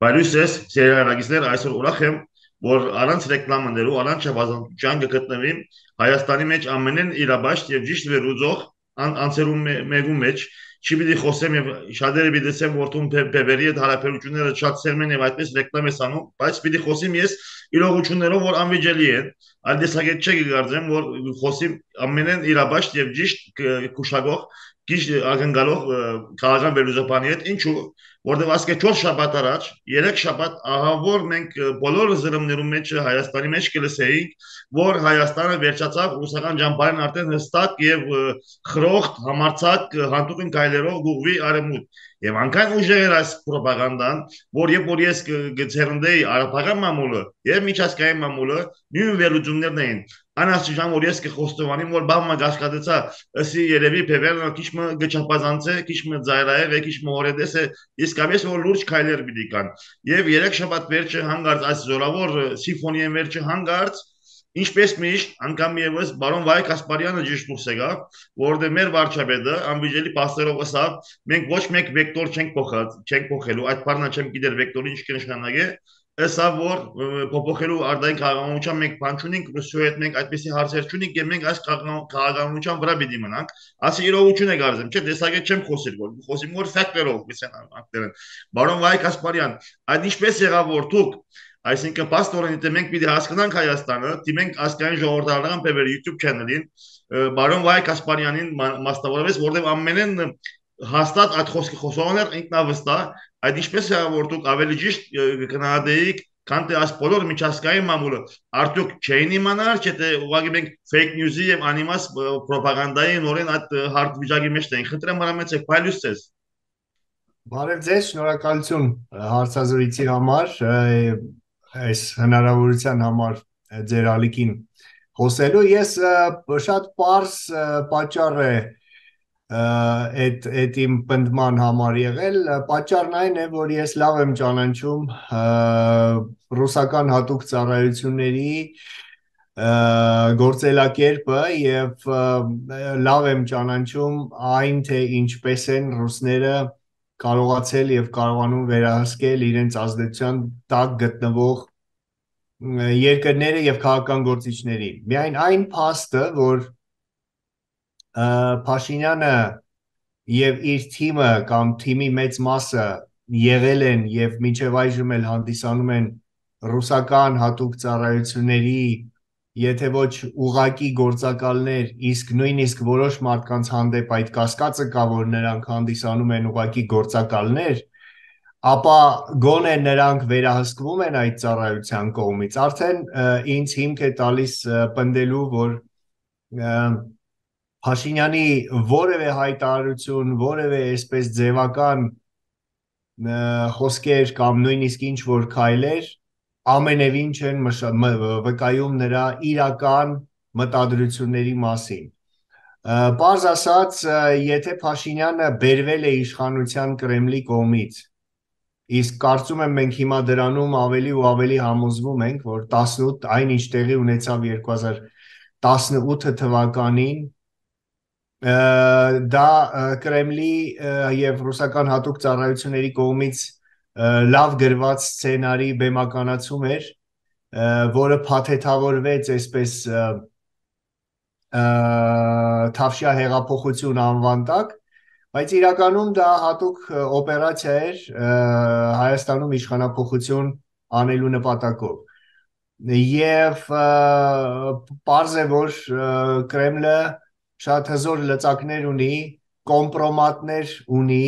Բարույս սերիալագիստներ այսօր ուրախ եմ, որ առանց ռեկլամաներու, առանց չափազանցության կգտնվի Հայաստանի մեջ ամենեն իրաբաշտ եւ ճիշտ վերուծող անցերում մեկու մեջ չի պիտի խոսեմ եւ շատերը պիտի ասեմ որ տուն բևերի հետ հարաբերությունները շատ սերմ են եւ այդպես ռեկլամ ես անում, բայց պիտի խոսիմ ես իրողություններով որ անվիճելի են, այլ տեսակետ չէ կգարձեմ որ խոսիմ ամենեն իրաբաշտ եւ ճիշտ կուշագող ճիշտ ակնկալող քաղաքական վերլուծաբանի հետ ինչու որտեղ ասկե 4 շաբաթ առաջ, 3 շաբաթ ահա որ մենք բոլոր զրմներում մեջ Հայաստանի մեջ կլսեինք, որ Հայաստանը վերջացավ ռուսական ջամբարին արդեն հստակ եւ խրոխտ համարցակ հանդուգն գայլերով գուղվի արեմուտ։ Եվ անկայն ուժեղ էր այս ռոպագանդան, որ ես գցերնդեի արաբական մամուլը եւ միջազգային մամուլը նույն վերլուծումներն էին։ Անաստիճան որ ես կխոստովանեմ որ բավական գաշկադեցա ըսի երևի բևերն քիչ մը գճապազանցե քիչ մը ծայրայե եւ քիչ մը օրեդես է իսկապես որ լուրջ քայլեր պիտի կան եւ երեք շաբաթ վերջը հանգարց այս զորավոր սիմֆոնիայի վերջը հանգարց ինչպես միշտ անգամ եւս բարոն Վայ Կասպարյանը ճիշտ դուրս եկավ որովհետեւ մեր վարչապետը անվիճելի փաստերով ասավ մենք ոչ մեկ վեկտոր չենք փոխելու այդ բառնա չեմ գիտեր վեկտորը ինչ կնշանակե Ըսա որ փոփոխելու արդային քաղաքականության մենք բան չունենք, Ռուսիայի հետ մենք այդպեսի հարցեր չունենք եւ մենք այս քաղաքականության վրա պիտի մնանք։ Ասի իրողություն է գարձեմ, չէ, տեսակետ չեմ խոսել, որ խոսիմ որ ֆակտորով, գիսեն ակտերն։ Բարոն Վայ Կասպարյան, այդ ինչպես եղավ որ դուք այսինքն պաստորեն դե մենք պիտի հասկանանք Հայաստանը, դիմենք ասկային ժողովրդական բևեր YouTube channel-ին, բարոն Վայ Կասպարյանին մասնավորապես, որտեղ ամենեն հաստատ այդ խոսքի խոսողներ ինքնավստահ այդ ինչպես է որ դուք ավելի ճիշտ կգնահատեիք քան թե այս բոլոր միջազգային մամուլը արդյոք չէին իմանալ չէ թե ուղղակի մենք fake news-ի եւ անիմաս ռոպագանդայի նորեն այդ հարթ վիճակի մեջ ենք խնդրեմ հարամեցեք փայլուս ցես Բարև ձեզ, շնորհակալություն հարցազրույցի համար, այս հնարավորության համար ձեր ալիքին խոսելու։ Ես շատ պարզ պատճառ է այդ իմ պնդման համար եղել։ Պատճառն այն է, որ ես լավ եմ ճանաչում ռուսական հատուկ ծառայությունների գործելակերպը եւ լավ եմ ճանաչում այն, թե ինչպես են ռուսները կարողացել եւ կարողանում վերահսկել իրենց ազդեցության տակ գտնվող երկրները եւ քաղաքական գործիչների։ Միայն այն փաստը, որ Փաշինյանը եւ իր թիմը կամ թիմի մեծ մասը եղել են եւ մինչեւ այժմ էլ հանդիսանում են ռուսական հատուկ ծառայությունների եթե ոչ ուղակի գործակալներ, իսկ նույնիսկ որոշ մարդկանց հանդեպ այդ կասկածը կա, որ նրանք հանդիսանում են ուղակի գործակալներ, ապա գոնե նրանք վերահսկվում են այդ ծառայության կողմից։ Արդեն ինձ հիմք է տալիս պնդելու, որ Փաշինյանի որևէ հայտարարություն, որևէ այսպես ձևական խոսքեր կամ նույնիսկ ինչ որ քայլեր ամենևին չեն վկայում նրա իրական մտադրությունների մասին։ Պարզ ասած, եթե Փաշինյանը բերվել է իշխանության Կրեմլի կողմից, իսկ կարծում եմ մենք հիմա դրանում ավելի ու ավելի համոզվում ենք, որ 18 այնինչ տեղի ունեցավ 2018 թվականին դա Կրեմլի եւ ռուսական հատուկ ծառայությունների կողմից լավ գրված սցենարի բեմականացում էր, որը փաթեթավորվեց այսպես Թավշյա հեղափոխություն անվան տակ, բայց իրականում դա հատուկ օպերացիա էր Հայաստանում իշխանափոխություն անելու նպատակով։ Եվ պարզ է, որ Կրեմլը շատ հզոր լծակներ ունի, կոմպրոմատներ ունի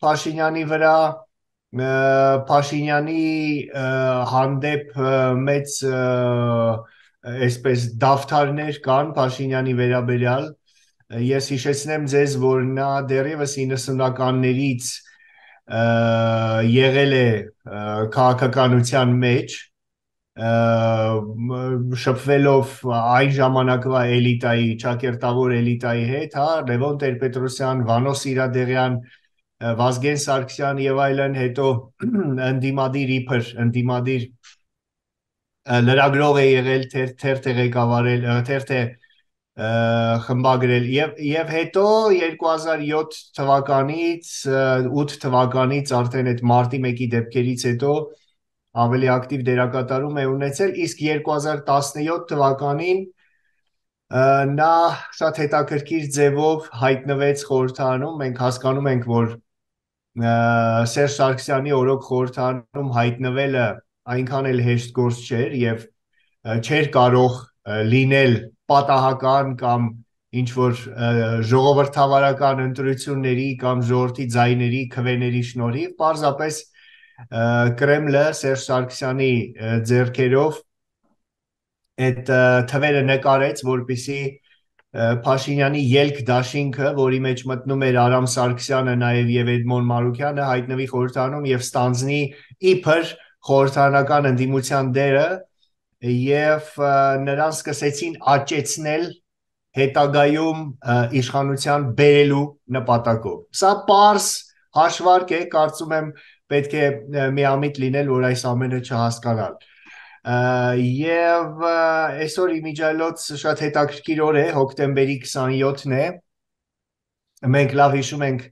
Փաշինյանի վրա, Փաշինյանի հանդեպ մեծ այսպես դավթարներ կան Փաշինյանի վերաբերյալ։ Ես հիշեցնեմ ձեզ, որ նա դեռևս 90-ականներից եղել է քաղաքականության մեջ, շփվելով այն ժամանակվա էլիտայի, ճակերտավոր էլիտայի հետ, հա, Լևոն Տեր-Պետրոսյան, Վանո Սիրադեղյան, Վազգեն Սարգսյան եւ այլն, հետո ընդդիմադիր լրագրող է եղել, թերթ է ղեկավարել, թերթ է խմբագրել եւ հետո 2007 թվականից 8 թվականից արդեն այդ մարտի 1-ի դեպքերից հետո ավելի ակտիվ դերակատարում է ունեցել, իսկ 2017 թվականին նա շատ հետաքրքիր ձևով հայտնվեց խորհրդարանում։ Մենք հասկանում ենք, որ Սերժ Սարգսյանի օրոք խորհրդարանում հայտնվելը այնքան էլ հեշտ գործ չէր եւ չէր կարող լինել պատահական կամ ինչ որ ժողովրդավարական ընտրությունների կամ ժողովրդի ձայների քվեների շնորհիվ պարզապես Կրեմլը Սերժ Սարգսյանի ձեռքերով այդ թվերը նկարեց, որպեսզի Փաշինյանի ելք դաշինքը, որի մեջ մտնում էր Արամ Սարգսյանը, նաև եւ Էդմոն Մարուկյանը, հայտնվի խորհրդարանում եւ ստանձնի իբր խորհրդարանական ընդդիմության դերը եւ նրան սկսեցին աճեցնել հետագայում իշխանության բերելու նպատակով։ Սա պարզ հաշվարկ է, կարծում եմ պետք է միամիտ լինել, որ այս ամենը չհասկանալ։ Եվ այսօր իմիջիայլոց շատ հետաքրքիր օր է, հոկտեմբերի 27-ն է։ Մենք լավ հիշում ենք,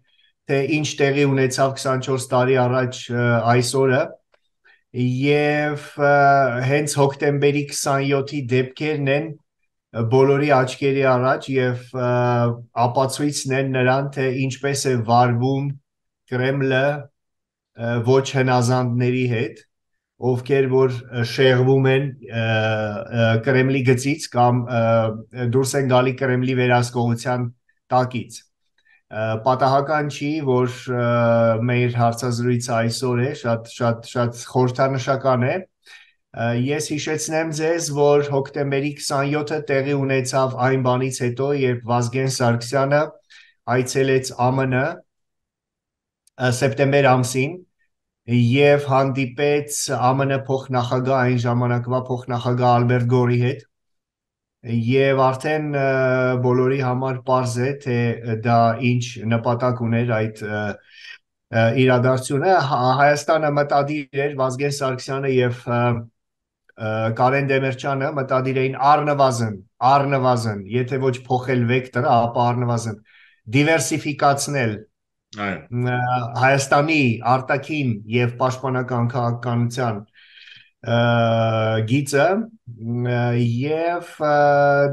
թե ինչ տեղի ունեցավ 24 տարի առաջ այս օրը, եւ հենց հոկտեմբերի 27-ի դեպքերն են բոլորի աչքերի առաջ եւ ապացույցն են նրան, թե ինչպես է վարվում Կրեմլը ոչ հնազանդների հետ, ովքեր որ շեղվում են Կրեմլի գծից կամ դուրս են գալի Կրեմլի վերահսկողության տակից։ Պատահական չի, որ մեր հարցազրույցը այսօր է, շատ խորհրդանշական է։ Ես հիշեցնեմ ձեզ, որ հոկտեմբերի 27-ը տեղի ունեցավ այն բանից հետո, երբ Վազգեն Սարգսյանը այցելեց ԱՄՆ սեպտեմբեր ամսին եւ հանդիպեց ԱՄՆ փոխնախագահ այն ժամանակվա փոխնախագահ Ալբերտ Գորի հետ եւ արդեն բոլորի համար պարզ է թե դա ինչ նպատակ ուներ այդ իրադարձությունը Հայաստանը մտադիր էր Վազգեն Սարգսյանը եւ Կարեն Դեմիրճյանը մտադիր էին առնվազն եթե ոչ փոխել վեկտորը ապա առնվազն դիվերսիֆիկացնել Հայաստանի արտաքին եւ պաշտպանական քաղաքականության գիծը եւ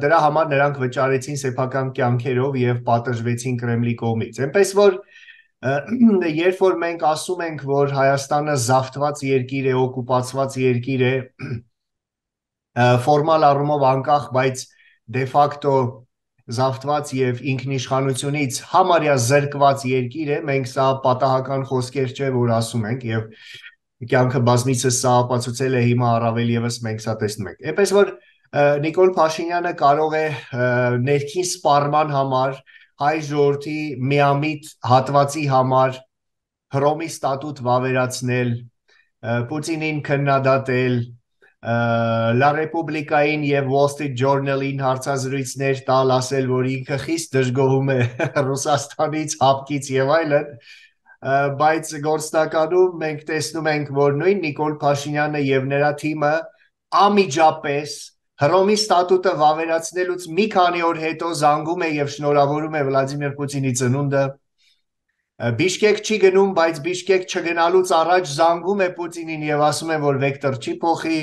դրա համար նրանք վճարեցին սեփական կյանքերով եւ պատժվեցին Կրեմլի կողմից։ Այնպես որ երբ որ մենք ասում ենք, որ Հայաստանը զավթված երկիր է, օկուպացված երկիր է, ֆորմալ առումով անկախ, բայց դե ֆակտո զավթված եւ ինքնիշխանությունից համարյա զրկված երկիր է, մենք սա պատահական խոսքեր չէ, որ ասում ենք եւ կյանքը բազմիցս սա ապացուցել է հիմա առավել եւս մենք սա տեսնում ենք։ Այնպես որ Նիկոլ Փաշինյանը կարող է ներքին սպառման համար հայ ժողովրդի միամիտ հատվածի համար Հռոմի ստատուտ վավերացնել, Պուտինին քննադատել, La Repubblica-ին եւ Wall Street Journal-ին հարցազրույցներ տալ, ասել, որ ինքը խիստ դժգոհում է Ռուսաստանից, հապկից եւ այլն, բայց գործնականում մենք տեսնում ենք, որ նույն Նիկոլ Փաշինյանը եւ նրա թիմը ամիջապես Հռոմի ստատուտը վավերացնելուց մի քանի օր հետո զանգում է եւ շնորհավորում է Վլադիմիր Պուտինի ծնունդը Բիշկեք չի գնում, բայց Բիշկեք չգնալուց առաջ զանգում է Պուտինին եւ ասում է, որ վեկտոր չի փոխի։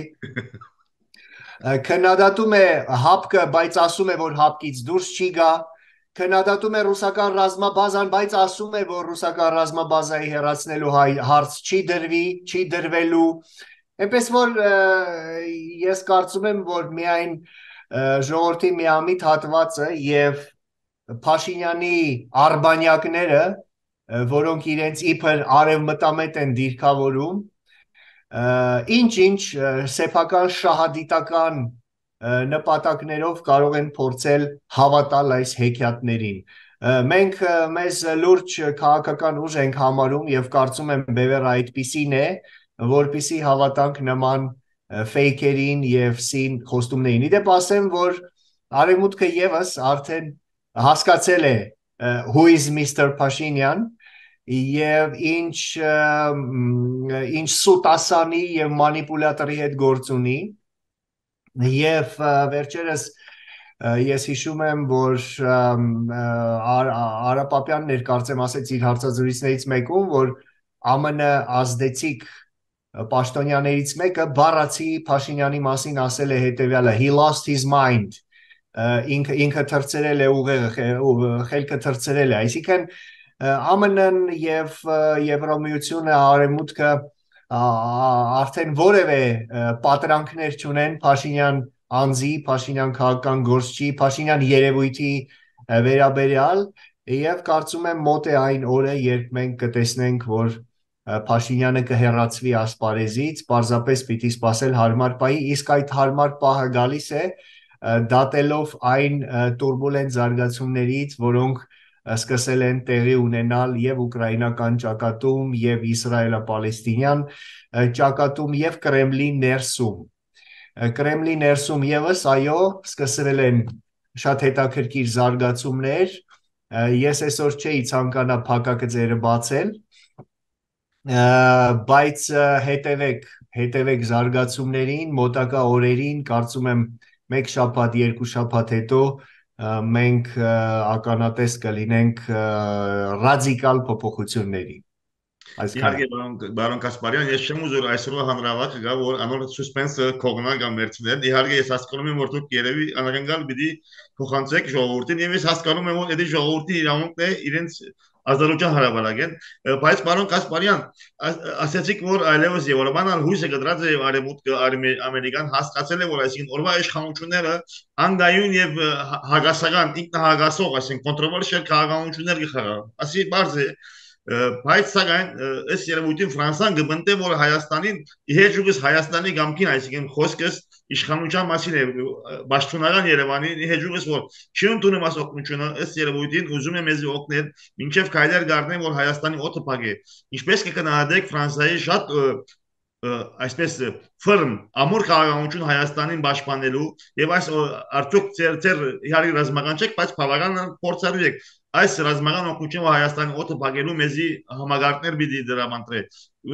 Քննադատում է հապկը, բայց ասում է, որ հապկից դուրս չի գա։ Քննադատում է ռուսական ռազմաբազան, բայց ասում է, որ ռուսական ռազմաբազայի հեռացնելու հարց չի դրվի, չի դրվելու։ Այնպես որ ես կարծում եմ, որ միայն ժողովրդի միամիտ հատվածը եւ Փաշինյանի արբանյակները որոնք իրենց իբր արևմտամետ են դիրքավորում, ինչ-ինչ սեփական շահադիտական նպատակներով կարող են փորձել հավատալ այս հեքիաթներին։ Մենք մեզ լուրջ քաղաքական ուժ ենք համարում եւ կարծում եմ բևեռը այդպիսին է, որպիսի հավատանք նման ֆեյքերին եւ սին խոստումներին։ Իդեպ ասեմ, որ Արևմուտքը եւս արդեն հասկացել է who is Mr. Pashinyan եւ ինչ սուտասանի եւ մանիպուլատորի հետ գործ ունի եւ վերջերս Ես հիշում եմ, որ Արապապյանն էր կարծեմ ասեց իր հարցազրույցներից մեկում, որ ԱՄՆ ազդեցիկ պաշտոնյաներից մեկը բառացի Փաշինյանի մասին ասել է հետևյալը. he lost his mind, ինքը թրծրել է ուղեղը, խելքը թրծրել է, այսինքն ԱՄՆ-ն եւ Եվրամիությունը, Արևմուտքը արդեն որևէ պատրանքներ չունեն Փաշինյան անձի, Փաշինյան քաղաքական գործչի, Փաշինյան երևույթի վերաբերյալ եւ կարծում եմ մոտ է այն օրը, երբ մենք կտեսնենք, որ Փաշինյանը կհեռացվի ասպարեզից, պարզապես պիտի սпасել հարմար պահի, իսկ այդ հարմար պահը գալիս է դատելով այն տուրբուլենտ զարգացումներից, որոնք սկսել են տեղի ունենալ եւ ուկրաինական ճակատում, եւ իսրայելա-պալեստինյան ճակատում, եւ Կրեմլի ներսում։ Կրեմլի ներսում եւս, այո, սկսվել են շատ հետաքրքիր զարգացումներ։ Ես այսօր չէի ցանկանա փակագծերը բացել, բայց հետևեք զարգացումներին, մոտակա օրերին, կարծում եմ մեկ շաբաթ, երկու շաբաթ հետո մենք ականատես կլինենք ռադիկալ փոփոխությունների։ Իհարկե բարոն Կասպարյան, ես չեմ ուզում այսօրվա հանրավաճը գա, որ անոր սուսպենսը կողնա կամ վերցնել։ Իհարկե ես հասկանում եմ, որ դուք երևի անակնկալ պիտի փոխանցեք ժողովրդին, եւ ես հասկանում եմ, որ այդ ժողովրդի իրավունքն է իրենց ազատության հրավարակեն, բայց պարոն Կասպարյան, ասացիք, որ այլևս Եվրոպան հույսը կդրած է եւ արևմուտքը Ամերիկան հասկացել է, որ այսինքն օրվա իշխանությունները անգայուն եւ հագասական ինքնահագասող, այսինքն կոնտրոլերշիալ քաղաքականություններ կխաղան։ Ասի բարձ է, բայց սակայն ըստ երևույթին Ֆրանսան կբնտե, որ Հայաստանին իհեջուկս Հայաստանի գամքին, այսինքն խոսքս իշխանության մասին է, պաշտոնական Երևանի իհեջուկս որ չի ընդունում այս օգնությունը, ըստ երևույթին ուզում է մեզ օգնել, մինչև քայլեր գարնեն, որ Հայաստանի օդը փակե։ Ինչպես կգնահատեք Ֆրանսիայի շատ այսպես ֆիրմ ամուր քաղաքականություն Հայաստանին պաշտպանելու եւ այս արդյոք ծեր իհարկե ռազմական չեք, բայց բավական փորձառու եք այս ռազմական օգնությունը Հայաստանի օդը փակելու մեզի համագարտներ պիտի դրամանտրե։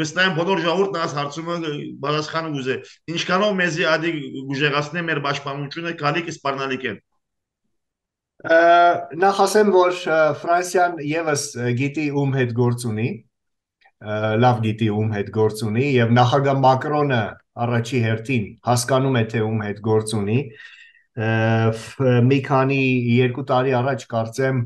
Վստահ եմ բոլոր ժողովուրդն այս հարցումը պատասխան ուզե։ Ինչքանով մեզի ադի գուժեղացնե մեր պաշտպանությունը գալիք սպառնալիք են։ Նախ ասեմ, որ Ֆրանսիան եւս գիտի ում հետ գործ ունի, լավ գիտի ում հետ գործ ունի եւ նախագահ Մակրոնը առաջի հերթին հասկանում է թե ում հետ գործ ունի։ Մի քանի երկու տարի առաջ կարծեմ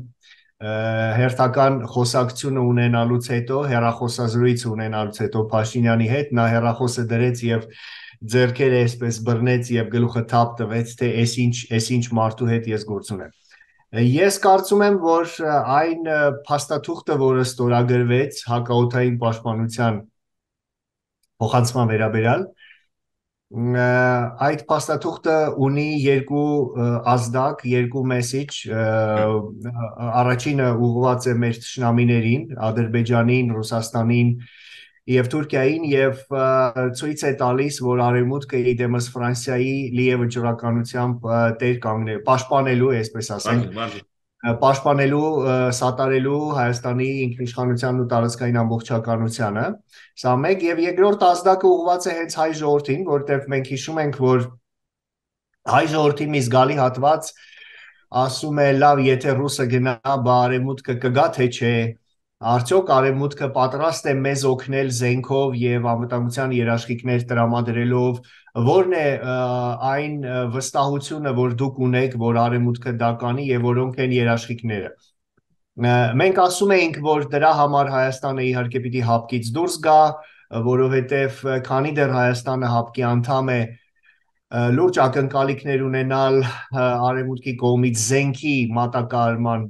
հերթական խոսակցությունը ունենալուց հետո, հեռախոսազրույց ունենալուց հետո Փաշինյանի հետ նա հեռախոսը դրեց եւ ձեռքերը այսպես բռնեց եւ գլուխը թափ տվեց, թե այսինչ մարդու հետ ես գործ ունեմ։ Ես կարծում եմ, որ այն փաստաթուղթը, որը ստորագրվեց հակաօդային պաշտպանության փոխանցման վերաբերյալ, այդ փաստաթուղթը ունի երկու ազդակ, երկու մեսեջ, առաջինը ուղղված է մեր թշնամիներին, Ադրբեջանին, Ռուսաստանին եւ Թուրքիային եւ ցույց է տալիս, որ Արևմուտքը իդեմս Ֆրանսիայի լիև վճռականությամբ տեր կանգնել, պաշտպանելու, այսպես ասենք, պաշտպանելու, սատարելու Հայաստանի ինքնիշխանությանն ու տարածքային ամբողջականությանը։ Սա մեկ եւ երկրորդ ազդակը ուղղված է հենց հայ ժողովրդին, որտեղ մենք հիշում ենք, որ հայ ժողովրդի մի զգալի հատված ասում է, լավ, եթե ռուսը գնա, բա Արևմուտքը կգա թե չէ։ Արդյոք Արևմուտքը պատրաստ է մեզ օգնել զենքով եւ անվտանգության երաշխիքներ տրամադրելով, որն է այն վստահությունը, որ դուք ունեք, որ Արևմուտքը դա կանի եւ որոնք են երաշխիքները։ Մենք ասում էինք, որ դրա համար Հայաստանը իհարկե պիտի հապկից դուրս գա, որովհետեւ քանի դեռ Հայաստանը հապկի անդամ է, լուրջ ակնկալիքներ ունենալ Արևմուտքի կողմից զենքի մատակարարման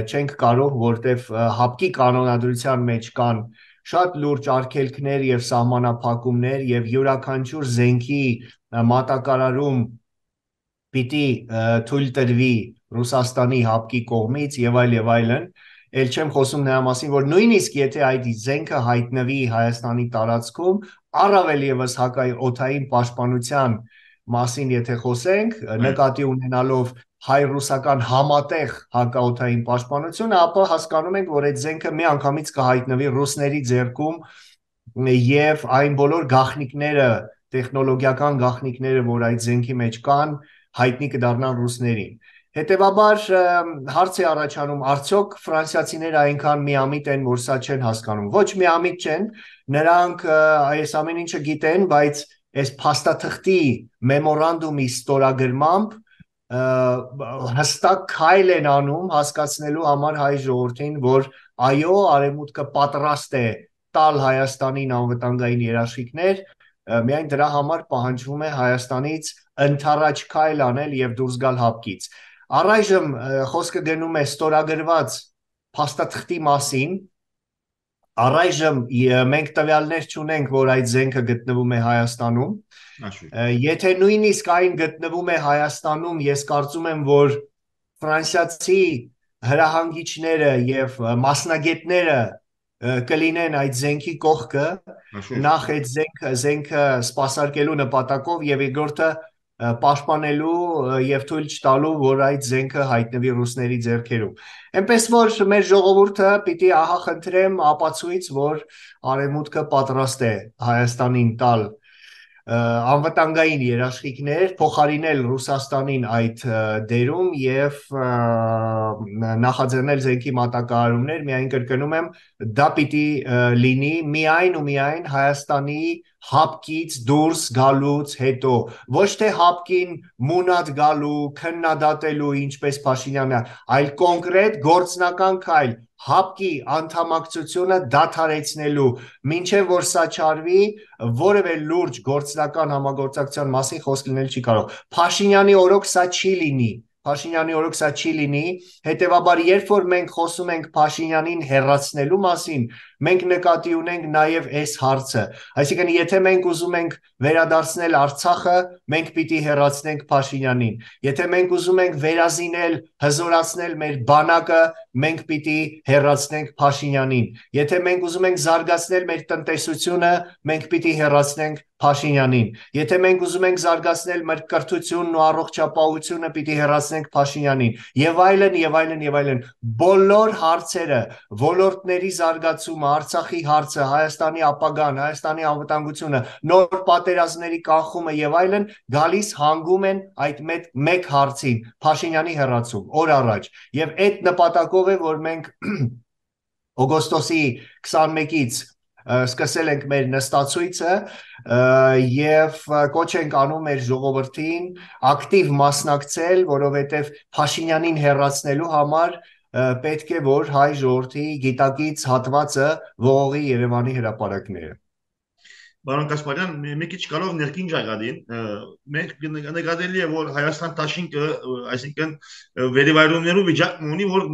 չենք կարող, որտեվ հապկի կանոնադրության մեջ կան շատ լուրջ արգելքներ եւ սահմանափակումներ եւ յուրաքանչյուր զենքի մատակարարում պիտի թույլ տրվի Ռուսաստանի հապկի կողմից եւ այլն, ել չեմ խոսում նրա մասին, որ նույնիսկ եթե այդ զենքը հայտնվի Հայաստանի տարածքում, առավել եւս հակաօդային պաշտպանության մասին եթե խոսենք, նկատի ունենալով հայ-ռուսական համատեղ հակաօդային պաշտպանությունը, ապա հասկանում ենք, որ այդ զենքը միանգամից կհայտնվի ռուսների ձեռքում եւ այն բոլոր գաղտնիքները, տեխնոլոգիական գաղտնիքները, որ այդ զենքի մեջ կան, հայտնի կդառնան ռուսներին։ Հետևաբար հարց է առաջանում, արդյոք ֆրանսիացիները այնքան միամիտ են, որ սա չեն հասկանում։ Ոչ միամիտ չեն, նրանք այս ամեն ինչը գիտեն, բայց այս փաստաթղթի մեմորանդումի ստորագրմամբ հստակ քայլ են անում հասկացնելու համար հայ ժողովրդին, որ այո, Արևմուտքը պատրաստ է տալ Հայաստանին անվտանգային երաշխիքներ, միայն դրա համար պահանջվում է Հայաստանից ընդառաջ քայլ անել եւ դուրս գալ հապկից։ Առայժմ խոսքը գնում է ստորագրված փաստաթղթի մասին։ Առայժմ մենք տվյալներ չունենք, որ այդ զենքը գտնվում է Հայաստանում։ Եթե նույնիսկ այն գտնվում է Հայաստանում, ես կարծում եմ, որ ֆրանսիացի հրահանգիչները եւ մասնագետները կլինեն այդ զենքի կողքը, նախ այդ զենքը սպասարկելու նպատակով եւ երկրորդը պաշտպանելու եւ թույլ չտալու, որ այդ զենքը հայտնվի ռուսների ձեռքերում։ Էնպես որ մեր ժողովուրդը պիտի ահա խնդրեմ ապացույց, որ Արևմուտքը պատրաստ է Հայաստանին տալ անվտանգային երաշխիքներ, փոխարինել Ռուսաստանին այդ դերում եւ նախաձեռնել զենքի մատակարարումներ, միայն կրկնում եմ, դա պիտի լինի միայն ու միայն Հայաստանի հապկից դուրս գալուց հետո, ոչ թե հապկին մունատ գալու, քննադատելու, ինչպես Փաշինյանը, այլ կոնկրետ գործնական քայլ, հապկի անդամակցությունը դադարեցնելու, մինչև որ սա չարվի, որևէ լուրջ գործնական համագործակցության մասին խոսք լինել չի կարող։ Փաշինյանի օրոք սա չի լինի։ Փաշինյանի օրոք սա չի լինի, հետևաբար երբ որ մենք խոսում ենք Փաշինյանին հեռացնելու մասին, մենք նկատի ունենք նաև այս հարցը, այսինքն եթե մենք ուզում ենք վերադարձնել Արցախը, մենք պիտի հեռացնենք Փաշինյանին, եթե մենք ուզում ենք վերազինել, հզորացնել մեր բանակը, մենք պիտի հեռացնենք Փաշինյանին, եթե մենք ուզում ենք զարգացնել մեր տնտեսությունը, մենք պիտի հեռացնենք Փաշինյանին, եթե մենք ուզում ենք զարգացնել մեր կրթությունն ու առողջապահությունը, պիտի հեռացնենք Փաշինյանին, եւ այլն եւ այլն եւ այլն, բոլոր հարցերը, ոլորտների զարգացումը, Արցախի հարցը, Հայաստանի ապագան, Հայաստանի անվտանգությունը, նոր պատերազմների կանխումը եւ այլն գալիս հանգում են այդ մեկ հարցին, Փաշինյանի հեռացում, օր առաջ, եւ այդ նպատակով է, որ մենք օգոստոսի 21-ից սկսել ենք մեր նստացույցը եւ կոչ ենք անում մեր ժողովրդին ակտիվ մասնակցել, որովհետեւ Փաշինյանին հեռացնելու համար պետք է որ հայ ժողովրդի գիտակից հատվածը ողողի Երևանի հրապարակները։ Պարոն Կասպարյան, մի քիչ կարող ներքին ճակատին, մենք նկատելի է, որ Հայաստան դաշինքը, այսինքն վերիվայրումներու վիճակն ունի, որ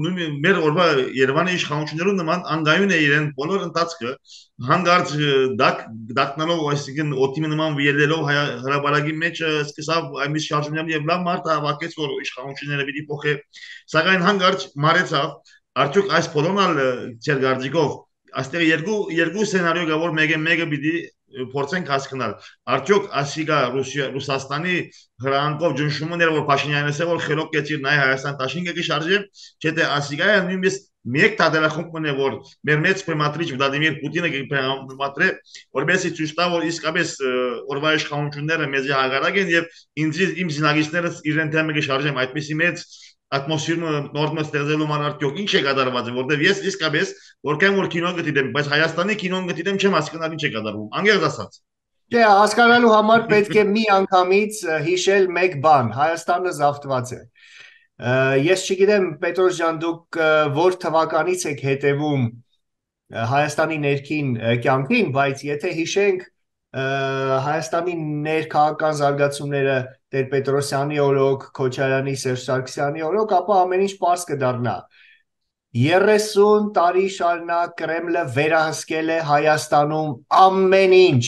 մեր օրվա Երևանի իշխանություններու նման անգայուն է իրեն բոլոր ընթացքը, հանգարց դակնալով, այսինքն օտիմի նման վիելելով հրապարակի մեջ սկսավ այնպես շարժումներ եւ լավ մարդ հավաքեց, որ իշխանությունները պիտի փոխե, սակայն հանգարց մարեցավ, արդյոք այս բոլոնալ ծեր գարձիկով այստեղ երկու սցենարիո կա, որ մեկը պիտի փորձենք հասկանալ արդյոք ասիգա Ռուսաստանի հրանքով ջնշումն էր որ Փաշինյանը ասել որ խելոք կեցիր նայ Հայաստան դաշինքը կշարժե չէ թե ասիգա նույնիսկ մեկ տադարախումբն է որ մեր մեծ պրեմատրիչ Վլադիմիր Պուտինը կպրեմատրե որովհետեւ ցույց տա որ իսկապես օրվա իշխանությունները մեզի հագարակ են եւ իմ զինագիստներս իրեն թեմը կշարժեմ այդպեսի մեծ ատմոսֆերը նորմալ ստեղծելու համար արդյոք ինչ է կատարված որովհետև ես իսկապես որքան որ կինո գտիդեմ բայց Հայաստանի կինոն գտիդեմ չեմ հասկանալ ինչ է կատարվում անգերձ ասած Չէ հասկանալու համար պետք է մի անգամից հիշել մեկ բան Հայաստանը զավթված է ես չգիտեմ Պետրոս ջան դուք որ թվականից եք հետևում Հայաստանի ներքին կյանքին բայց եթե հիշենք Հայաստանի ներքաղաքական զարգացումները Տեր-Պետրոսյանի օրոք, Քոչարյանի, Սերժ Սարգսյանի օրոք, ապա ամեն ինչ պարզ կդառնա։ 30 տարի շարունակ Կրեմլը վերահսկել է Հայաստանում ամեն ինչ,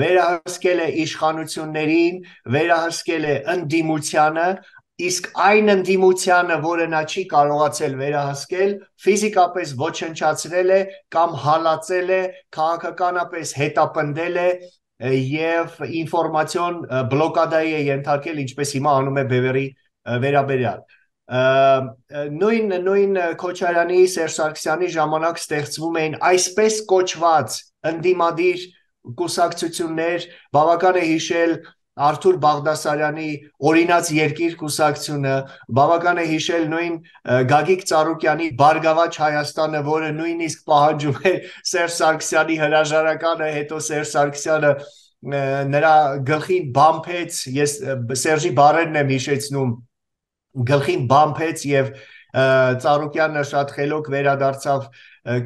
վերահսկել է իշխանություններին, վերահսկել է ընդդիմությանը, իսկ այն ընդդիմությանը, որը նա չի կարողացել վերահսկել, ֆիզիկապես ոչնչացրել է կամ հալածել է, քաղաքականապես հետապնդել է եւ ինֆորմացիոն բլոկադայի է ենթարկել, ինչպես հիմա անում է Բևերի վերաբերյալ։ Նույն Քոչարյանի, Սերժ Սարգսյանի ժամանակ ստեղծվում էին այսպես կոչված ընդդիմադիր կուսակցություններ, բավական է հիշել Արթուր Բաղդասարյանի օրինաց երկիր կուսակցությունը, բավական է հիշել նույն Գագիկ Ծառուկյանի Բարգավաճ Հայաստանը, որը նույնիսկ պահանջում է Սերժ Սարգսյանի հրաժարականը, հետո Սերժ Սարգսյանը նրա գլխին բամփեց, ես Սերժի բառերն եմ հիշեցնում, գլխին բամփեց եւ Ծառուկյանը շատ խելոք վերադարձավ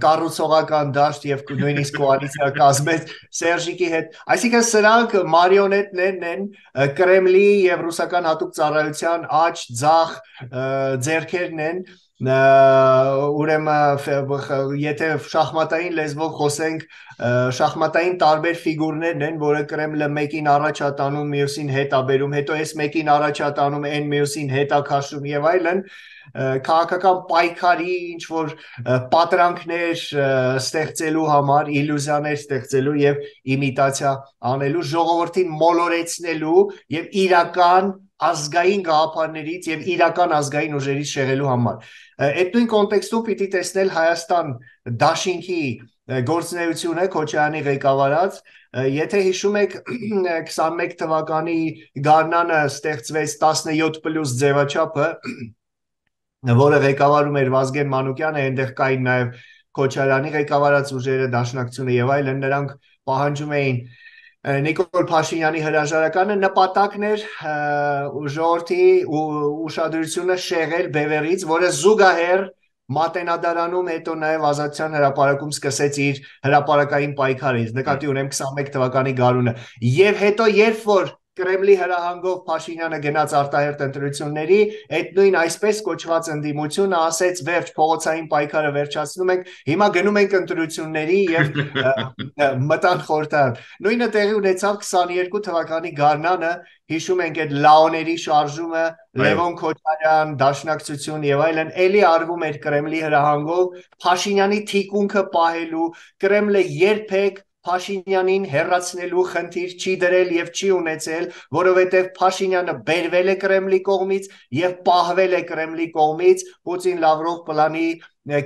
կառուցողական դաշտ եւ նույնիսկ կոալիցիա կազմեց Սերժիկի հետ, այսինքն սրանք մարիոնետներն են Կրեմլի եւ ռուսական հատուկ ծառայության աջ ձախ ձեռքերն են ուրեմն եթե շախմատային լեզվով խոսենք շախմատային տարբեր ֆիգուրներն են, որը Կրեմլը մեկին առաջ է տանում, մյուսին հետ է բերում, հետո էս մեկին առաջ է տանում, այն մյուսին հետ է քաշում եւ այլն քաղաքական պայքարի ինչ որ պատրանքներ ստեղծելու համար, իլյուզիաներ ստեղծելու եւ իմիտացիա անելու, ժողովրդին մոլորեցնելու եւ իրական ազգային գաղափարներից եւ իրական ազգային ուժերից շեղելու համար։ Այդ նույն կոնտեքստում պիտի տեսնել Հայաստան դաշինքի գործունեությունը Քոչարյանի ղեկավարած, եթե հիշում եք 21 թվականի գարնանը ստեղծվեց 17+ ձևաչափը, որը ղեկավարում էր Վազգեն Մանուկյանը, այնտեղ կային նաև Քոչարյանի ղեկավարած ուժերը, Դաշնակցությունը եւ այլն, նրանք պահանջում էին Նիկոլ Փաշինյանի հրաժարականը, նպատակն էր ժողովրդի ուշադրությունը շեղել բևեռից, որը զուգահեռ Մատենադարանում հետո նաև Ազատության հրապարակում սկսեց իր հրապարակային պայքարը, նկատի ունեմ 21 թվականի գարունը, եւ հետո երբ որ Կրեմլի հրահանգով Փաշինյանը գնաց արտահերթ ընտրությունների, այդ նույն այսպես կոչված ընդդիմությունը ասեց վերջ փողոցային պայքարը վերջացնում ենք, հիմա գնում ենք ընտրությունների եւ մտան խորհրդարան։ Նույնը տեղի ունեցավ 22 թվականի գարնանը, հիշում ենք այդ լաոների շարժումը, Լևոն Քոչարյան, Դաշնակցություն եւ այլն, էլի արվում էր Կրեմլի հրահանգով Փաշինյանի թիկունքը պահելու, Կրեմլը երբեք Փաշինյանին հեռացնելու խնդիր չի դրել եւ չի ունեցել, որովհետեւ Փաշինյանը բերվել է Կրեմլի կողմից եւ պահվել է Կրեմլի կողմից Պուտին-Լավրով պլանի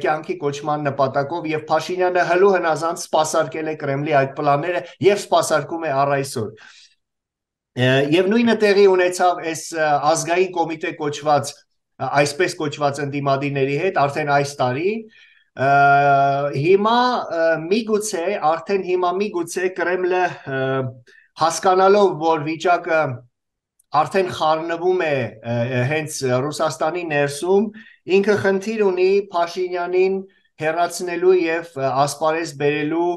կյանքի կոչման նպատակով եւ Փաշինյանը հլու հնազանդ սպասարկել է Կրեմլի այդ պլանները եւ սպասարկում է առ այսօր։ Եվ նույնը տեղի ունեցավ այս ազգային կոմիտե կոչված, այսպես կոչված ընդդիմադիրների հետ արդեն այս տարի, հիմա միգուցե Կրեմլը հասկանալով, որ վիճակը արդեն խառնվում է հենց Ռուսաստանի ներսում, ինքը խնդիր ունի Փաշինյանին հեռացնելու եւ ասպարեզ բերելու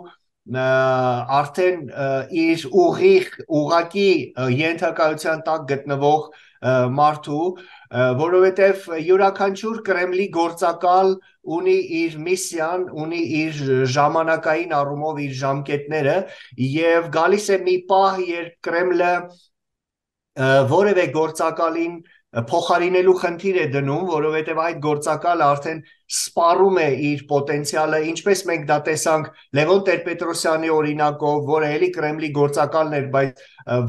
արդեն իր ուղղակի ենթակայության տակ գտնվող մարդու, որովհետև յուրաքանչյուր Կրեմլի գործակալ ունի իր միսիան, ունի իր ժամանակային առումով իր ժամկետները եւ գալիս է մի պահ, երբ Կրեմլը որևէ գործակալին փոխարինելու խնդիր է դնում, որովհետև այդ գործակալը արդեն սպառում է իր պոտենցիալը, ինչպես մենք դա տեսանք Լևոն Տեր-Պետրոսյանի օրինակով, որը էլի Կրեմլի գործակալն էր, բայց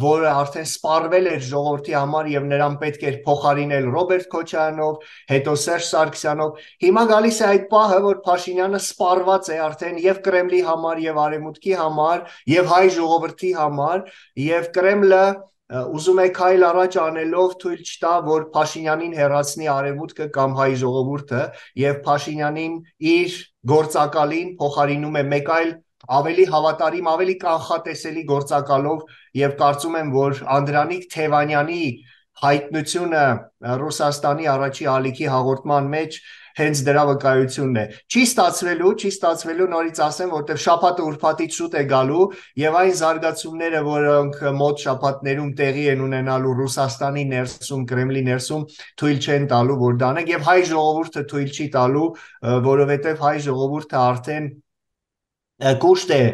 որը արդեն սպառվել էր ժողովրդի համար եւ նրան պետք էր փոխարինել Ռոբերտ Քոչարյանով, հետո Սերժ Սարգսյանով։ Հիմա գալիս է այդ պահը, որ Փաշինյանը սպառված է արդեն եւ Կրեմլի համար եւ Արևմուտքի համար եւ հայ ժողովրդի համար եւ Կրեմլը ուզում է քայլ առաջ անելով թույլ չտա, որ Փաշինյանին հեռացնի Արևմուտքը կամ հայ ժողովուրդը եւ Փաշինյանին իր գործակալին փոխարինում է մեկ այլ ավելի հավատարիմ, ավելի կանխատեսելի գործակալով եւ կարծում եմ, որ Անդրանիկ Թևանյանի հայտնությունը Ռուսաստանի առաջի ալիքի հաղորդման մեջ հենց դրա վկայությունն է։ Չի ստացվելու, նորից ասեմ, որտեղ շաբաթը ուրբաթից շուտ է գալու եւ այն զարգացումները, որոնք մոտ շաբաթներում տեղի են ունենալու Ռուսաստանի ներսում, Կրեմլի ներսում, թույլ չեն տալու, որ դանենք եւ հայ ժողովուրդը թույլ չի տալու, որովհետեւ հայ ժողովուրդը արդեն կուշտ է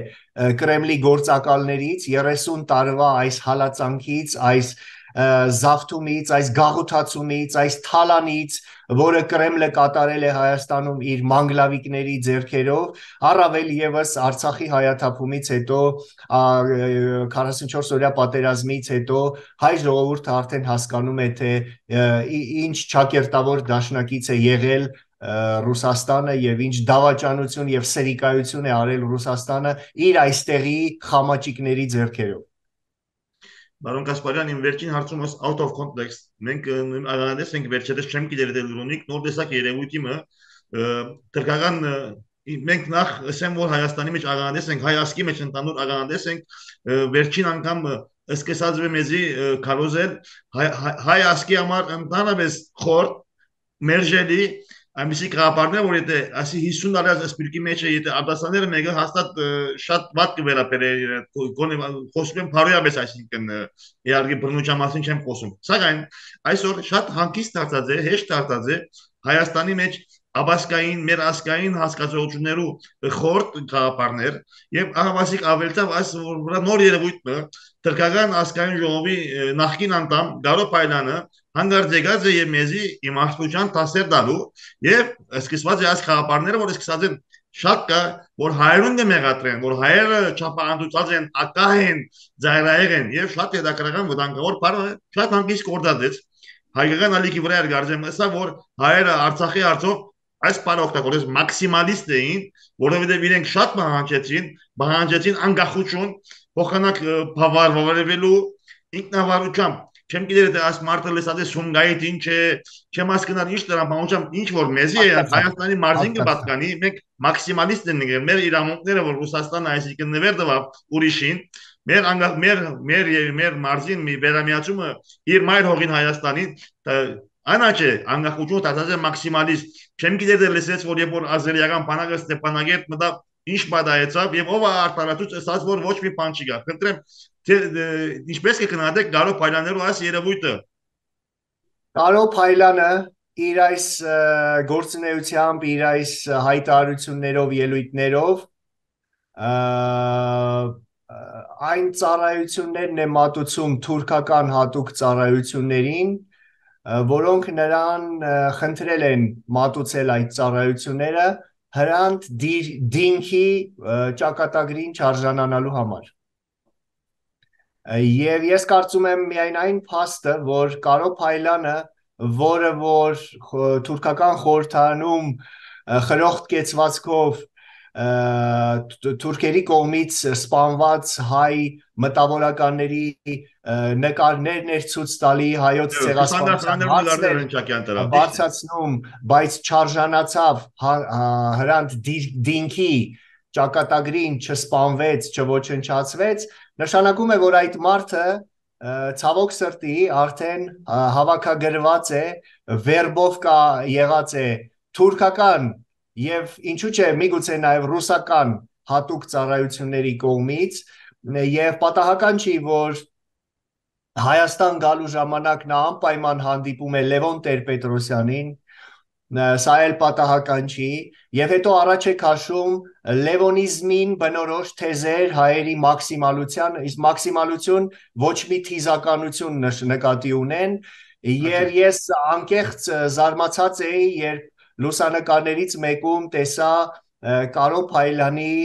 Կրեմլի գործակալներից 30 տարվա այս հալածանքից, այս զավթումից, այս գաղութացումից, այս թալանից, որը Կրեմլը կատարել է Հայաստանում իր մանգլավիկների ձեռքերով, առավել եւս Արցախի հայաթափումից հետո 44-օրյա պատերազմից հետո հայ ժողովուրդը արդեն հասկանում է, թե ինչ ճակերտավոր դաշնակից է եղել Ռուսաստանը եւ ինչ դավաճանություն եւ սերիկայություն է արել Ռուսաստանը իր այստեղի խամաճիկների ձեռքերով։ Բարոն Կասպարյան, իմ վերջին հարցումս out of context։ Մենք աղանդես ենք վերջերս չեմ գիտեր դել ռոնիկ նոր տեսակ երևույթի մը թրկական մենք նախ ասեմ որ Հայաստանի մեջ աղանդես ենք հայ ասկի մեջ ընդանուր աղանդես ենք վերջին անգամ սկսած մեզի քարոզել հայ ասկի համար ընդանավես խորտ մերժելի այնպեսի կապարներ որ եթե ասի 50 տարի սպիրկի մեջ է եթե արտասաները մեկը հաստատ շատ վատ կվերապերել գոնե խոսում եմ բարոյաբես այսինքն իհարկե բռնության մասին չեմ խոսում սակայն այսօր շատ հանգիստ դարձած է հեշտ դարձած է Հայաստանի մեջ աբասկային մեր ասկային հասկացություններու խորտ կապարներ եւ ահավասիկ ավելտավ այս վրա նոր երևույթը թրկական ասկային ժողովի նախկին անդամ Գարո Փայլյանը հանգարց եկած է եւ մեզի իմաստության տասեր դալու եւ սկսված է այս խաղապարները որ սկսած են շատ կա որ հայերուն դե մեղադրեն որ հայերը չափահանցած են ակահ են ծայրահեղ են եւ շատ հետաքրքրական վտանգավոր բանը շատ հանգիստ կորդած հայկական ալիքի վրա էր գարձեմ ասա որ հայերը Արցախի արծով այս բանը օգտագործես մաքսիմալիստ էին որովհետեւ իրենք շատ բանջեցին անկախություն փոխանակ բավարարվելու ինքնավարությամբ չեմ գիտեր թե այս մարտը լսած է Սումգայիթ ինչ է չեմ հասկանում ինչ դրա բանությամբ ինչ որ մեզի է Հայաստանի մարզին կպատկանի մենք մաքսիմալիստ ենք մեր իրավունքները որ Ռուսաստանը այսինքն նվեր տվավ ուրիշին մեր մարզին մի վերամիացումը իր մայր հողին Հայաստանին անաչե անկախություն դարձած է մաքսիմալիստ չեմ գիտեր թե լսեց որ երբ որ ազերիական բանակը Ստեփանագերտ մտավ ինչ պատահեցավ եւ ով արտարացուց ասաց որ ոչ մի բան չի գա խնդրեմ ինչպես կգնահատեք Գարո Փայլյաններու այս երևույթը Գարո Փայլյանը իր այս գործունեությամբ իր այս հայտարարություններով ելույթներով այն ծառայություններն է մատուցում թուրքական հատուկ ծառայություններին որոնք նրան խնդրել են մատուցել այդ ծառայությունները հրանտ դինքի ճակատագրին չարժանանալու համար Եվ ես կարծում եմ միայն այն փաստը, որ Գարո Փայլյանը, որը որ թուրքական խորհրդարանում խրոխտ կեցվածքով թուրքերի կողմից սպանված հայ մտավորականների նկարներ ներցույց տալի հայոց ցեղասպանության բարձրացնում, բայց չարժանացավ հրանտ դինքի ճակատագրին չսպանվեց, չոչնչացվեց Նշանակում է, որ այդ մարդը ցավոք սրտի արդեն հավաքագրված է, վերբով կա եղած է թուրքական եւ ինչու՞ չէ միգուցե նաեւ ռուսական հատուկ ծառայությունների կողմից եւ պատահական չի, որ Հայաստան գալու ժամանակ նա անպայման հանդիպում է Լևոն Տեր-Պետրոսյանին Սա էլ պատահական չի եւ հետո առաջ է քաշում լևոնիզմին բնորոշ թեզեր հայերի մաքսիմալության իսկ մաքսիմալություն ոչ մի թիզականություն նկատի ունեն եւ ես անկեղծ զարմացած էի երբ լուսանկարներից մեկում տեսա Գարո Փայլյանի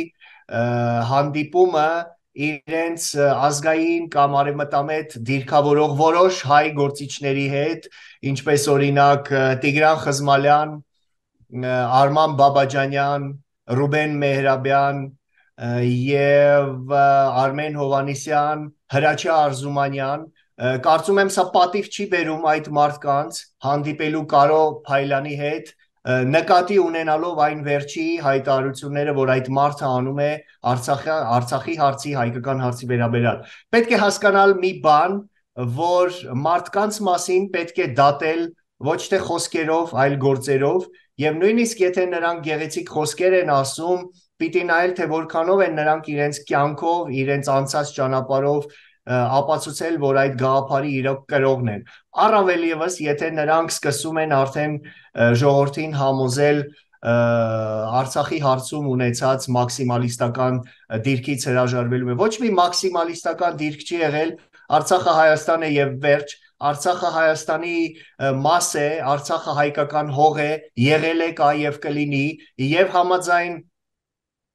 հանդիպումը իրենց ազգային կամ արևմտամետ դիրքավորող որոշ հայ գործիչների հետ, ինչպես օրինակ Տիգրան Խզմալյան, Արման Բաբաջանյան, Ռուբեն Մեհրաբյան եւ Արմեն Հովանիսյան, Հրաչյա Արզումանյան, կարծում եմ սա պատիվ չի բերում այդ մարդկանց հանդիպելու Գարո Փայլյանի հետ նկատի ունենալով այն վերջի հայտարարությունները, որ այդ մարդը անում է Արցախի հարցի, հայկական հարցի վերաբերյալ։ Պետք է հասկանալ մի բան, որ մարդկանց մասին պետք է դատել ոչ թե խոսքերով, այլ գործերով, եւ նույնիսկ եթե նրանք գեղեցիկ խոսքեր են ասում, պիտի նայել թե որքանով են նրանք իրենց կյանքով, իրենց անցած ճանապարհով ապացուցել, որ այդ գաղափարի իրոք կրողն են։ Առավել եւս, եթե նրանք սկսում են արդեն ժողովրդին համոզել Արցախի հարցում ունեցած մաքսիմալիստական դիրքից հրաժարվելու է։ Ոչ մի մաքսիմալիստական դիրք չի եղել, Արցախը Հայաստան է եւ վերջ, Արցախը Հայաստանի մաս է, Արցախը հայկական հող է, եղել է, կա եւ կլինի, եւ համաձայն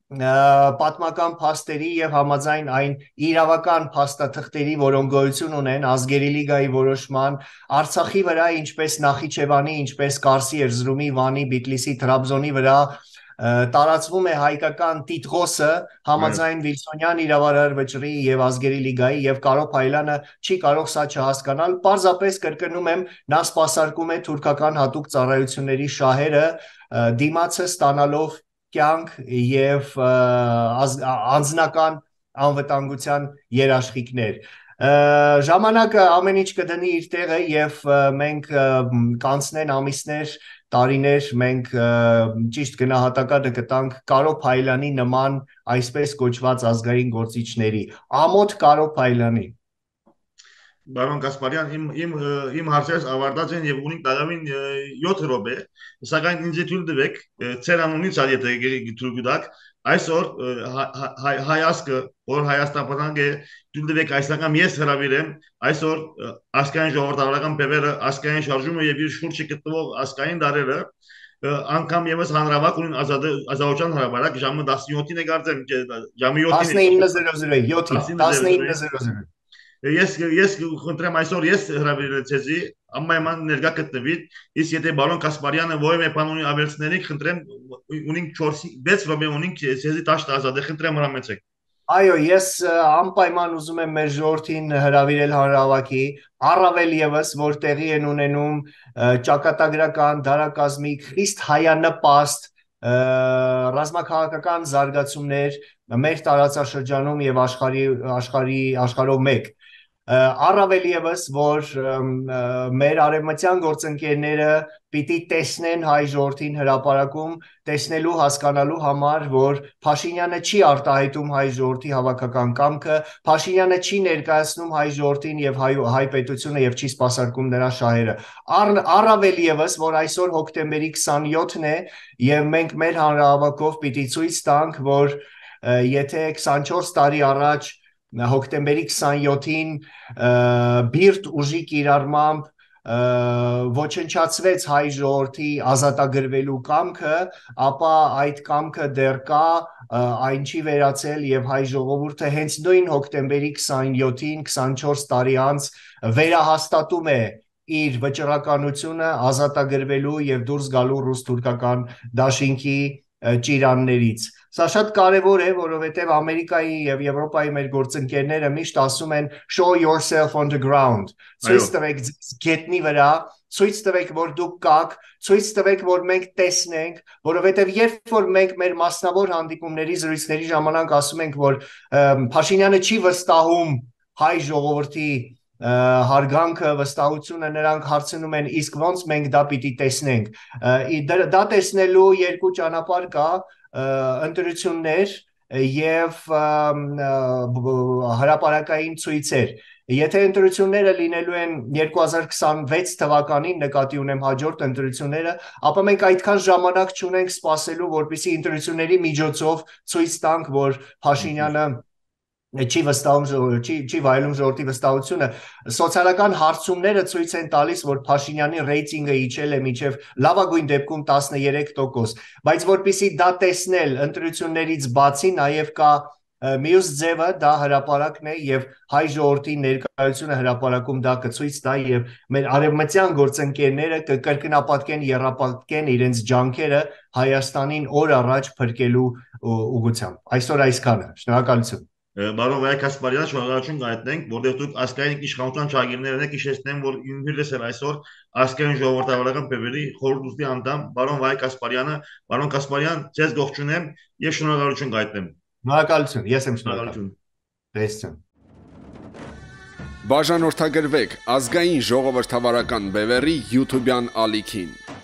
պատմական փաստերի եւ համաձայն այն իրավական փաստաթղթերի, որոնք գոյություն ունեն ազգերի լիգայի որոշման Արցախի վրա, ինչպես Նախիջևանի, ինչպես Կարսի, Էրզրումի, Վանի, Բիտլիսի, Տրաբզոնի վրա տարածվում է հայկական տիտղոսը համաձայն Վիլսոնյան իրավարար վճռի եւ ազգերի լիգայի եւ Կարո Փայլյանը չի կարող սա չհասկանալ պարզապես կրկնում եմ նա սպասարկում է թուրքական հատուկ ծառայությունների շահերը դիմացը ստանալով կյանք եւ անձնական անվտանգության երաշխիքներ ժամանակը ամեն ինչ կդնի իր տեղը եւ մենք կանցնեն ամիսներ տարիներ մենք ճիշտ գնահատականը կտանք Կարո Փայլյանի նման այսպես կոչված ազգային գործիչների ամոթ Կարո Փայլյանի Բարոն Կասպարյան, իմ հարցերս ավարտած են եւ ունին դարավին 7 րոպե, սակայն ինձ թույլ տվեք, ծեր անունից ալ եթե թույլ տաք, այսօր հայասկը, որ Հայաստան պատանք է, թույլ տվեք այսական ես հրավիրեմ, այսօր ասկային ժողովրդավարական բևերը, ասկային շարժումը եւ իր շուրջը գտնվող ասկային դարերը անգամ եւս հանրավակ ունին ազատության հրապարակ ժամը 17-ին է կարծեմ, ժամը 7-ին 19:00 Ես խնդրեմ այսօր ես հրավիրել ցեզի ամայման ներկա գտնվի իսկ եթե բարոն Կասպարյանը որևէ բան ունի ավելցնելիք խնդրեմ ունին 4-6 րոպե ունին ցեզի տաշտ ազատ է խնդրեմ հրամեցեք Այո ես անպայման ուզում եմ մեր ժողովրդին հրավիրել հանրահավաքի առավել եւս որ տեղի են ունենում ճակատագրական դարակազմիկ խիստ հայանպաստ ռազմաքաղաքական զարգացումներ մեր տարածաշրջանում եւ աշխարհով մեկ առավել եւս որ մեր արևմտյան գործընկերները պիտի տեսնեն հայ ժողովրդին հրապարակում տեսնելու հասկանալու համար որ Փաշինյանը չի արտահայտում հայ ժողովրդի հավաքական կամքը Փաշինյանը չի ներկայացնում հայ ժողովրդին եւ հայ պետությունը եւ չի սպասարկում նրա շահերը առավել եւս որ այսօր հոկտեմբերի 27-ն է եւ մենք մեր հանրահավաքով պիտի ցույց տանք որ եթե 24 տարի առաջ հոկտեմբերի 27-ին բիրտ ուժի կիրառմամբ ոչնչացվեց հայ ժողովրդի ազատագրվելու կամքը, ապա այդ կամքը դեռ կա, այն չի վերացել եւ հայ ժողովուրդը հենց նույն հոկտեմբերի 27-ին 24 տարի անց վերահաստատում է իր վճռականությունը ազատագրվելու եւ դուրս գալու ռուս-թուրքական դաշինքի ճիրաններից Սա շատ կարևոր է, որովհետև Ամերիկայի եւ Եվրոպայի մեր գործընկերները միշտ ասում են show yourself on the ground։ Ցույց տվեք գետնի վրա, ցույց տվեք, որ դուք կաք, ցույց տվեք, որ մենք տեսնենք, որովհետև երբ որ մենք մեր մասնավոր հանդիպումների զրույցների ժամանակ ասում ենք, որ Փաշինյանը չի վստահում հայ ժողովրդի հարգանքը, վստահությունը նրանք հարցնում են, իսկ ոնց մենք դա պիտի տեսնենք։ Դա տեսնելու երկու ճանապարհ կա, ընտրություններ եւ հրապարակային ցույցեր։ Եթե ընտրությունները լինելու են 2026 թվականին նկատի ունեմ հաջորդ ընտրությունները, ապա մենք այդքան ժամանակ չունենք սպասելու, որպեսզի ընտրությունների միջոցով ցույց տանք, որ Փաշինյանը չի վայելում ժողովրդի վստահությունը սոցիալական հարցումները ցույց են տալիս որ Փաշինյանի ռեյտինգը իջել է մինչև լավագույն դեպքում 13%, բայց որpիսի դա տեսնել ընտրություններից բացի նաև կա մյուս ձևը դա հրապարակն է եւ հայ ժողովրդի ներկայությունը հրապարակում դա կցույց տա եւ մեր արևմտյան գործընկերները կկրկնապատկեն երապատկեն իրենց ջանքերը Հայաստանին օր առաջ փրկելու ուղղությամբ այսօր այսքանը շնորհակալություն Բարոն Վայ Կասպարյան, շնորհակալություն կհայտնենք, որտեղ դուք ասկային իշխանության ճակերներն եք հիշեցնեմ, որ ինքնիրս էլ այսօր ասկային ժողովրդավարական բևերի խորհրդի անդամ բարոն Վայ Կասպարյանը, բարոն Կասպարյան, ձեզ ողջունեմ եւ շնորհակալություն կհայտնեմ։ Շնորհակալություն, ես եմ շնորհակալ։ Տեսություն։ Բաժանորդագրվեք ազգային ժողովրդավարական բևերի YouTube-յան ալիքին։